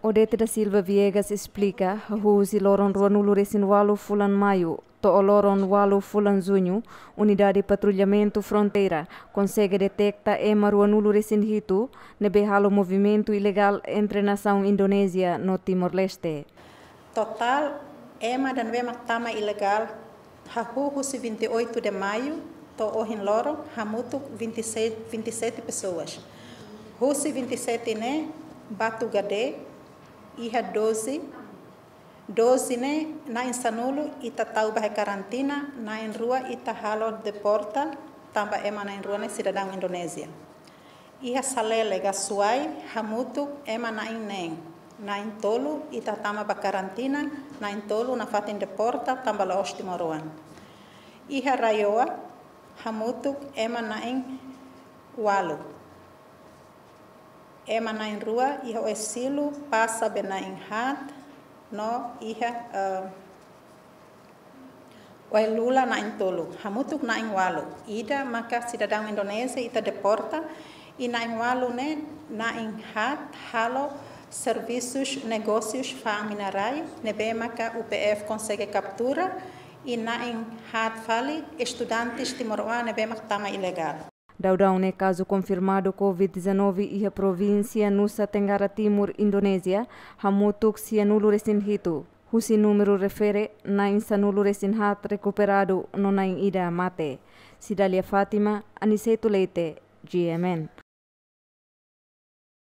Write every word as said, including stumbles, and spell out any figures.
Odete da Silva Viegas esplika, hahú husi loron ruanulu resin walu fulan Maiu to'o loron walu fulan Juñu, Unidade Patrullamentu Fronteira konsege deteta ema ruanulu resin hitu ne'ebé halo movimentu ilegál entre nasaun Indonézia no Timor-Leste. Totál ema ida ne'ebé mak tama ilegál hahú husi vinte e oito de Maio to'o ohin loron hamutuk vinte e sete, vinte e sete pessoas. Husi vinte e sete ne'e, Batugade iha doze, doze ne'e na'in sanulu ita tau ba iha karantina, na'in rua ita halo deporta, tanba ema na'in rua ne'e sidadaun Indonézia. Iha Salele, Gasuai, hamutuk ema na'in neen, na'in tolu ita tama ba karantina, na'in tolu nafatin deporta tanba la'ós timoroan. Iha Raioa, hamutuk ema na'in walu. Ema na'in rua iha Oesilo, Pasa be na'in haat, no iha, eh, Oelula na'in tolu, hamutuk na'in walu. Ida maka sidadaun Indonézia ita deporta, i na'in walu ne'e na'in haat halo servisus negósius fa'an mina-rai, ne'ebé maka U P F konsege kaptura, i na'in haat fali estudantes timoroan ne'ebé mak tama ilegál. Daudaun ne'e kazu konfirmadu Covid dezanove iha provínsia Nusa Tenggara Timur, Indonézia, hamutuk sianulu resin hitu. Husi númeru refere, na'in sanulu resin haat rekuperadu no na'in ida mate. Cidália Fátima, Aniceto Leite, G M N.